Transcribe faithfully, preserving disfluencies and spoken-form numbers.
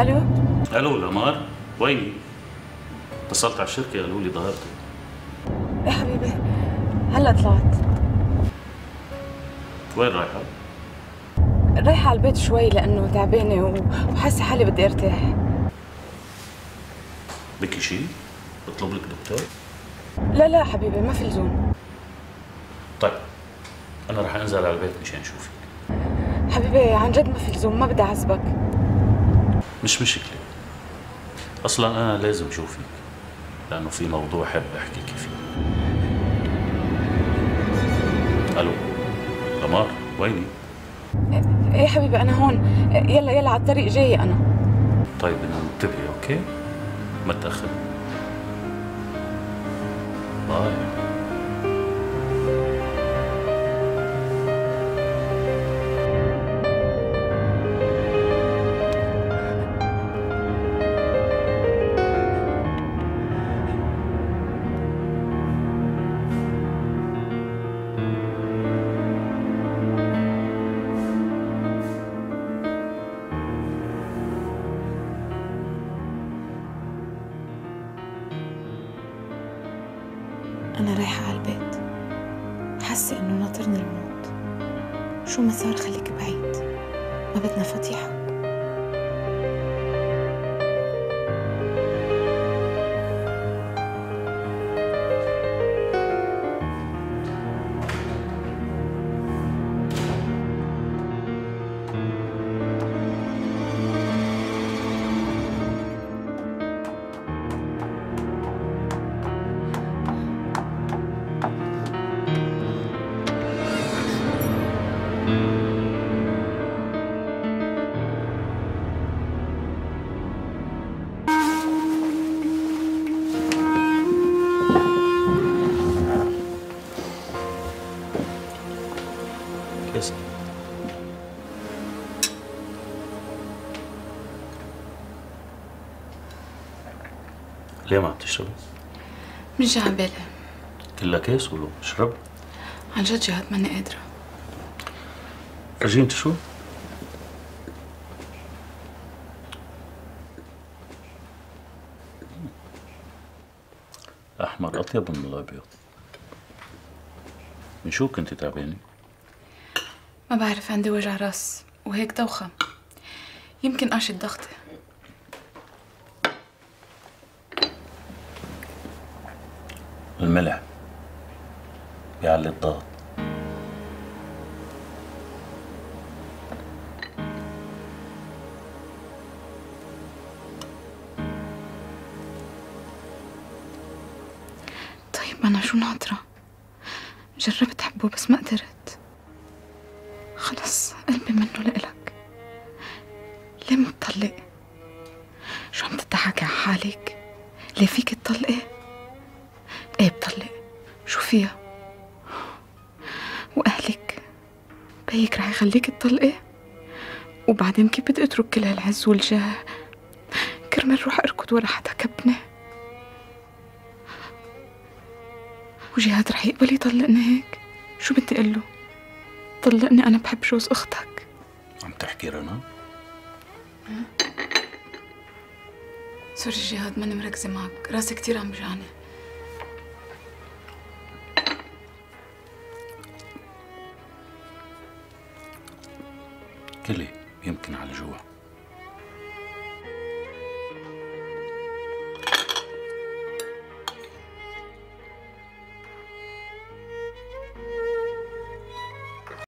الو الو لمار، ويني؟ اتصلت على الشركة قالوا لي ظهرتي. ايه حبيبي، هلا طلعت. وين رايحة؟ رايحة على البيت شوي لأنه تعبانة وحاسة حالي بدي ارتاح. بكي شيء؟ بطلب لك دكتور؟ لا لا حبيبي، ما في لزوم. طيب أنا رح أنزل على البيت مشان أشوفك. حبيبي عن جد ما في لزوم، ما بدي أعذبك. مش مشكلة، أصلا أنا لازم أشوفك لأنه في موضوع حب أحكيك فيه. ألو لمار، ويني؟ ايه حبيبي أنا هون، يلا يلا على الطريق جاية أنا. طيب أنا انتبهي أوكي؟ ما تأخر. باي. أنا رايحة على البيت، حاسة إنه ناطرني الموت. شو ما صار خليك بعيد، ما بدنا فضيحة. كيس. ليه ما عم تشربي؟ مش جاي على بالي. كلها كيس ولو اشرب. عن جد جهاد ماني قادرة. فرجيني شو؟ أحمر أطيب من الأبيض. من شو كنت تعبانة؟ ما بعرف، عندي وجع راس وهيك دوخة، يمكن قاشة ضغطي. الملح بيعلي الضغط. طيب أنا شو ناطرة؟ جربت حبه بس ما قدرت. خلص قلبي منه لإلك. ليه ما بتطلق؟ شو عم تضحكي على حالك؟ ليه فيك تطلقي؟ ايه بطلق، شو فيها؟ وأهلك بيك رح يخليك تطلقي؟ وبعدين كيف بدي اترك كل هالعز والجاه كرمال روح اركض ورا حدا كبني؟ وجهاد رح يقبل يطلقني هيك؟ شو بدي اقول له؟ طلقني، انا بحب جوز اختك. عم تحكي رنا؟ سوري جهاد، ماني مركزة معك، راسي كتير عم بجعني. كلي يمكن على جوع.